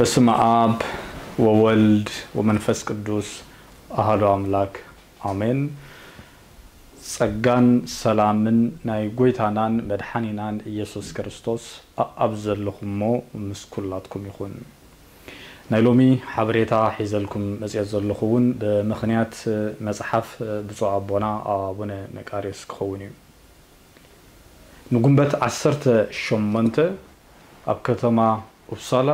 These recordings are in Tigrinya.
በስመ አብ ወወልድ ወመንፈስ ቅዱስ አሐዱ አምላክ አሜን። ጸጋን ሰላምን ናይ ጎይታናን መድሓኒናን ኢየሱስ ክርስቶስ ኣብ ዘለኹሞ ምስ ኩላትኩም ይኹን። ናይ ሎሚ ሓበሬታ ሒዘልኩም መጽኤት ዘለኹ እውን ብምኽንያት መጽሓፍ ብፁዕ ኣቦና ኣቡነ መቃርዮስ ክኸውን እዩ። ንጉንበት ዓሰርተ ሸሞንተ ኣብ ከተማ ኡፕሳላ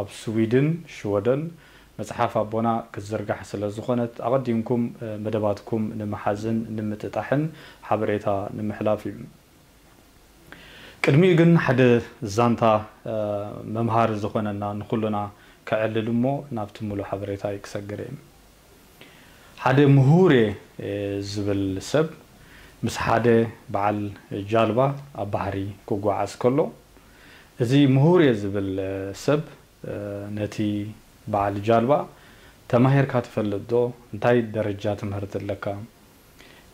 ኣብ ስዊድን ሽወደን መጽሓፍ ኣቦና ክትዝርጋሕ ስለ ዝኾነት ኣቐዲምኩም መደባትኩም ንምሓዝን ንምጥጣሕን ሓበሬታ ንምሕላፍ እዩ። ቅድሚኡ ግን ሓደ ዛንታ መምሃሪ ዝኾነና ንኹልና ከዕልል እሞ ናብቲ ሙሉእ ሓበሬታይ ክሰግር እየ። ሓደ ምሁር እየ ዝብል ሰብ ምስ ሓደ በዓል ጃልባ ኣብ ባሕሪ ክጓዓዝ ከሎ፣ እዚ ምሁር እየ ዝብል ሰብ ነቲ በዓል ጃልባ፣ "ተማሂርካ ትፈልጥ ዶ? እንታይ ደረጃ ትምህርቲ ኣለካ?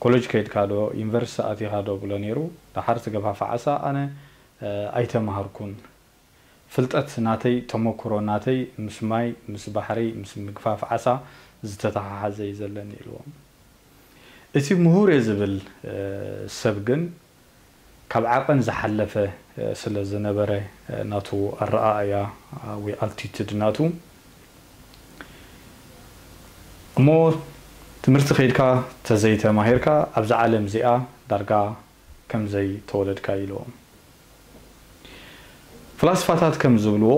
ኮለጅ ከይድካ ዶ? ዩኒቨርሲቲ ኣቲኻ ዶ?" ብሎ ነይሩ። ደሓር ዝገፋፍዓሳ ኣነ ኣይተማሃርኩን። ፍልጠት ናተይ፣ ተመክሮ ናተይ ምስ ማይ፣ ምስ ባሕሪ፣ ምስ ምግፋፍ ዓሳ ዝተተሓሓዘ እዩ ዘለኒ ኢልዎም። እቲ ምሁር እየ ዝብል ሰብ ግን ካብ ዓቐን ዝሓለፈ ስለ ዝነበረ ናቱ ኣረኣእያ ወይ ኣልቲቱድ ናቱ እሞ ትምህርቲ ከይድካ ተዘይተማሂርካ ኣብዛ ዓለም እዚኣ ዳርጋ ከም ዘይተወለድካ ኢልዎም። ፍላስፋታት ከም ዝብልዎ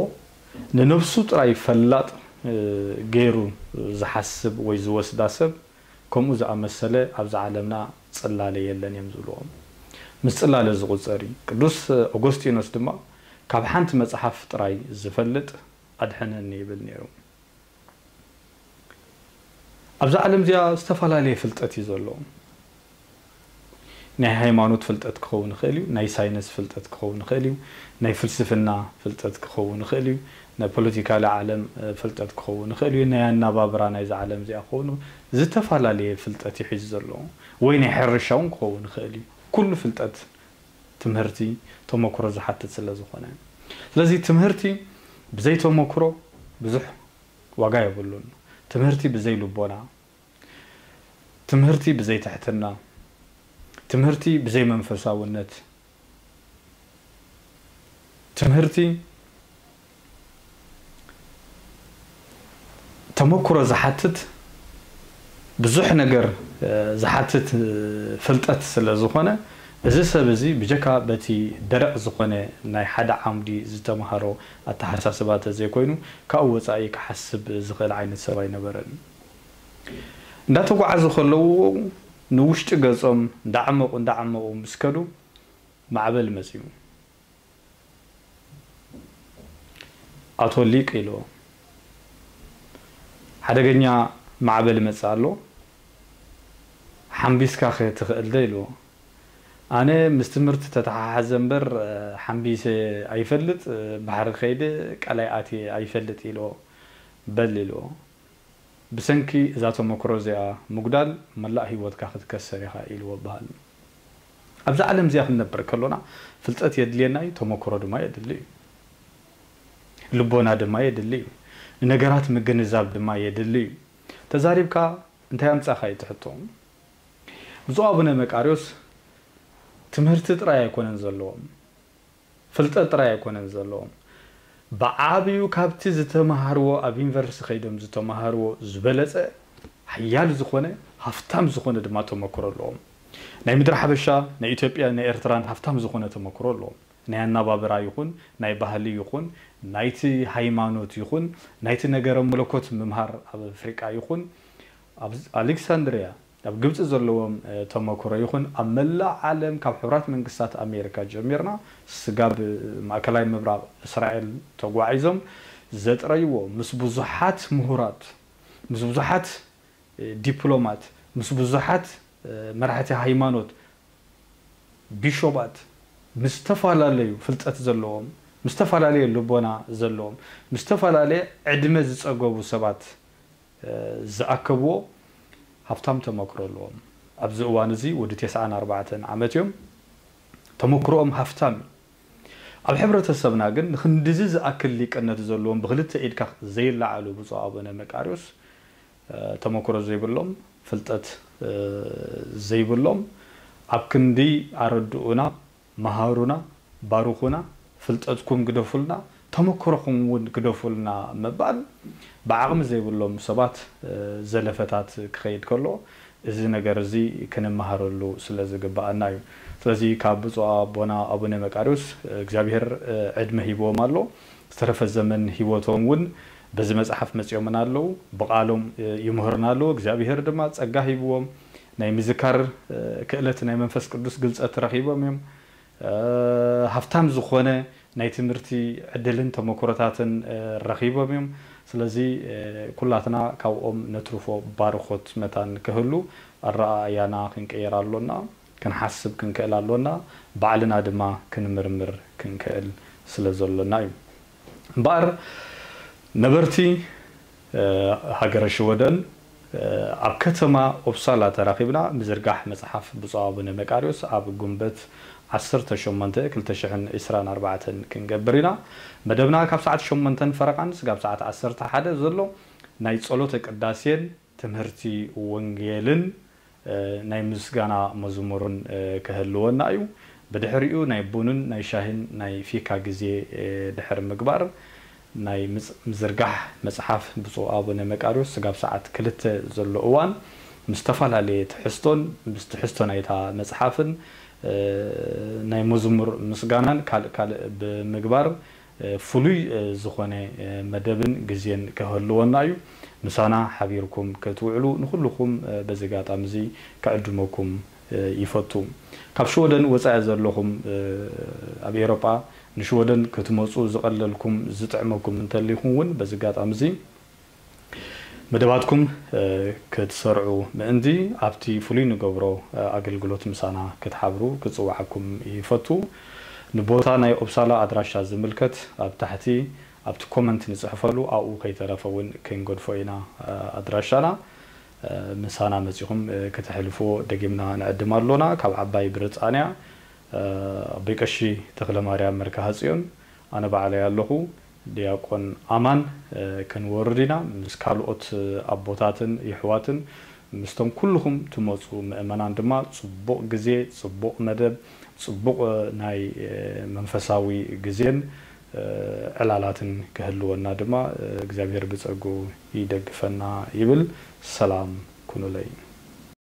ንነብሱ ጥራይ ፈላጥ ገይሩ ዝሓስብ ወይ ዝወስዳ ሰብ ከምኡ ዝኣመሰለ ኣብዛ ዓለምና ጽላለ የለን እዮም ዝብልዎም። ምስ ጽላለ ዝቑጸር እዩ። ቅዱስ ኦጎስጢኖስ ድማ ካብ ሓንቲ መጽሓፍ ጥራይ ዝፈልጥ ኣድሕነኒ ይብል ነይሩ። ኣብዛ ዓለም እዚኣ ዝተፈላለየ ፍልጠት እዩ ዘሎ። ናይ ሃይማኖት ፍልጠት ክኸውን ይኽእል እዩ፣ ናይ ሳይንስ ፍልጠት ክኸውን ይኽእል እዩ፣ ናይ ፍልስፍና ፍልጠት ክኸውን ይኽእል እዩ፣ ናይ ፖለቲካሊ ዓለም ፍልጠት ክኸውን ይኽእል እዩ፣ ናይ ኣናባብራ ናይዛ ዓለም እዚኣ ክኸውን ዝተፈላለየ ፍልጠት እዩ ሒዙ ዘሎ፣ ወይ ናይ ሕርሻ እውን ክኸውን ይኽእል እዩ። ኩሉ ፍልጠት ትምህርቲ ተመክሮ ዝሓትት ስለ ዝኾነ፣ ስለዚ ትምህርቲ ብዘይ ተመክሮ ብዙሕ ዋጋ የብሉን። ትምህርቲ ብዘይ ልቦና፣ ትምህርቲ ብዘይ ትሕትና፣ ትምህርቲ ብዘይ መንፈሳውነት፣ ትምህርቲ ተመክሮ ዝሓትት ብዙሕ ነገር ዝሓትት ፍልጠት ስለ ዝኾነ፣ እዚ ሰብ እዚ ብጀካ በቲ ደረቕ ዝኾነ ናይ ሓደ ዓምዲ ዝተምሃሮ ኣተሓሳስባ ተዘይኮይኑ፣ ካብኡ ወጻኢ ክሓስብ ዝኽእል ዓይነት ሰብ ኣይነበረን። እንዳተጓዓዙ ከለዉ ንውሽጢ ገጾም እንዳዓመቑ እንዳዓመቑ ምስ ከዱ ማዕበል መጺኡ። ኣቶ ሊቅ ኢልዎ፣ ሓደገኛ ማዕበል ይመጽእ ኣሎ፣ ሓምቢስካ ከ ትኽእል ዶ ኢልዎ። ኣነ ምስ ትምህርቲ ተተሓሓዘ እምበር ሓምቢሰ ኣይፈልጥ፣ ባሕሪ ከይደ ቃላይ ኣትየ ኣይፈልጥ ኢልዎ። በል ኢልዎ። ብሰንኪ እዛ ተመክሮ እዚኣ ምጉዳል መላእ ህይወትካ ክትከሰር ኢኻ ኢልዎ በሃል። ኣብዛ ዓለም እዚኣ ክንነብር ከሎና ፍልጠት የድልየና እዩ፣ ተመክሮ ድማ የድሊ እዩ። ልቦና ድማ የድሊ እዩ። ንነገራት ምግንዛብ ድማ የድሊ እዩ። ተዛሪብካ እንታይ ኣምጻኻ እዩ እቲ ሕቶ። ብፁዕ ኣቡነ መቃርዮስ ትምህርቲ ጥራይ ኣይኮነን ዘለዎም። ፍልጠት ጥራይ ኣይኮነን ዘለዎም። ብዓብዩ ካብቲ ዝተማሃርዎ፣ ኣብ ዩኒቨርሲቲ ከይዶም ዝተማሃርዎ ዝበለጸ ሓያል ዝኾነ፣ ሃፍታም ዝኾነ ድማ ተመክሮ ኣለዎም። ናይ ምድሪ ሓበሻ፣ ናይ ኢትዮጵያ፣ ናይ ኤርትራን ሃፍታም ዝኾነ ተመክሮ ኣለዎም። ናይ ኣናባብራ ይኹን፣ ናይ ባህሊ ይኹን፣ ናይቲ ሃይማኖት ይኹን፣ ናይቲ ነገረ መለኮት ምምሃር ኣብ ኣፍሪቃ ይኹን፣ ኣብ ኣሌክሳንድሪያ ኣብ ግብጺ ዘለዎም ተመክሮ ይኹን ኣብ መላእ ዓለም ካብ ሕቡራት መንግስታት ኣሜሪካ ጀሚርና ስጋብ ማእከላይ ምብራቕ እስራኤል ተጓዒዞም ዘጥረይዎ ምስ ብዙሓት ምሁራት፣ ምስ ብዙሓት ዲፕሎማት፣ ምስ ብዙሓት መራሕቲ ሃይማኖት፣ ቢሾባት፣ ምስ ዝተፈላለዩ ፍልጠት ዘለዎም፣ ምስ ዝተፈላለየ ልቦና ዘለዎም፣ ምስ ዝተፈላለየ ዕድመ ዝጸገቡ ሰባት ዝኣከብዎ ሃፍታም ተመክሮ ኣለዎም። ኣብዚ እዋን እዚ ወዲ ተስዓን ኣርባዕተን ዓመት እዮም። ተመክሮኦም ሃፍታም እዩ። ኣብ ሕብረተሰብና ግን ንክንድዚ ዝኣክል ሊቅነት ዘለዎም ብክልተ ኢድካ ዘይለዓሉ ብፁዕ ኣቡነ መቃርዮስ ተመክሮ ዘይብሎም፣ ፍልጠት ዘይብሎም፣ ኣብ ክንዲ ኣረድኡና፣ መሃሩና፣ ባርኹና፣ ፍልጠትኩም ግደፉልና፣ ተመክሮኹም እውን ግደፉልና ምባል ብዓቕሚ ዘይብሎም ሰባት ዘለፈታት ክኸይድ ከሎ፣ እዚ ነገር እዚ ክንመሃረሉ ስለ ዝግብኣና እዩ። ስለዚ ካብ ብፁዕ ኣቦና ኣቡነ መቃርዮስ እግዚኣብሔር ዕድመ ሂብዎም ኣሎ። ዝተረፈ ዘመን ህይወቶም እውን በዚ መጽሓፍ መጺኦምና ኣለዉ። ብቓሎም ይምህሩና ኣለዉ። እግዚኣብሔር ድማ ጸጋ ሂብዎም ናይ ምዝካር ክእለት ናይ መንፈስ ቅዱስ ግልጸት ረኺቦም እዮም። ሃፍታም ዝኾነ ናይ ትምህርቲ ዕድልን ተመክሮታትን ረኺቦም እዮም። ስለዚ ኩላትና ካብኦም ነትርፎ ባርኾት መታን ክህሉ ኣረኣእያና ክንቅየር ኣሎና፣ ክንሓስብ ክንክእል ኣሎና፣ ባዕልና ድማ ክንምርምር ክንክእል ስለ ዘሎና እዩ። እምበኣር ነበርቲ ሃገረ ሽወደን ኣብ ከተማ ኦፕሳላ ተራኺብና ምዝርጋሕ መጽሓፍ ብፁዕ ኣቡነ መቃርዮስ ኣብ ጉንበት ዓሰርተ ሸሞንተ ክልተ ሽሕን ዕስራን ኣርባዕተን ክንገብር ኢና። መደብና ካብ ሰዓት ሸሞንተን ፈረቓን ስጋብ ሰዓት ዓሰርተ ሓደ ዘሎ ናይ ጸሎተ ቅዳሴን ትምህርቲ ወንጌልን ናይ ምስጋና መዝሙርን ክህልወና እዩ። ብድሕሪኡ ናይ ቡንን ናይ ሻሂን ናይ ፊካ ግዜ ድሕሪ ምግባር ናይ ምዝርጋሕ መጽሓፍ ብፁዕ ኣቡነ መቃርዮስ ስጋብ ሰዓት ክልተ ዘሎ እዋን ምስ ዝተፈላለየ ትሕዝቶን ምስ ትሕዝቶ ናይታ መጽሓፍን ናይ መዝሙር ምስጋናን ካልእ ካልእ ብምግባር ፍሉይ ዝኾነ መደብን ግዜን ክህልወና እዩ። ምሳና ሓቢርኩም ክትውዕሉ ንኹልኹም በዚ ኣጋጣሚ እዚ ክዕድመኩም ይፈቱ። ካብ ሽወደን ወጻኢ ዘለኹም ኣብ ኤሮጳ ንሽወደን ክትመጹ ዝቐለልኩም ዝጥዕመኩም እንተሊኹም እውን በዚ ኣጋጣሚ እዚ መደባትኩም ክትሰርዑ ምእንቲ ኣብቲ ፍሉይ ንገብሮ ኣገልግሎት ምሳና ክትሓብሩ ክጽውዓኩም ይፈቱ። ንቦታ ናይ ኦፕሳላ ኣድራሻ ዝምልከት ኣብ ታሕቲ ኣብቲ ኮመንት ንጽሕፈሉ ኣብኡ ከይተረፈ እውን ክንገድፎ ኢና ኣድራሻና። ምሳና መጺኹም ከተሕልፍዎ ደጊምና ንዕድም ኣሎና። ካብ ዓባይ ብሪጣንያ ኣቦይ ቀሺ ተኽለማርያም መርካሃጽዮን ኣነ ባዕለይ ኣለኹ። ዲያቆን ኣማን ክንወርድ ኢና ምስ ካልኦት ኣቦታትን የሕዋትን ምስቶም ኩልኹም ትመፁ ምእመናን ድማ ፅቡቕ ግዜ፣ ፅቡቕ መደብ፣ ፅቡቕ ናይ መንፈሳዊ ግዜን ዕላላትን ክህልወና ድማ እግዚኣብሔር ብፀጉ ይደግፈና ይብል። ሰላም ኩኑለይ።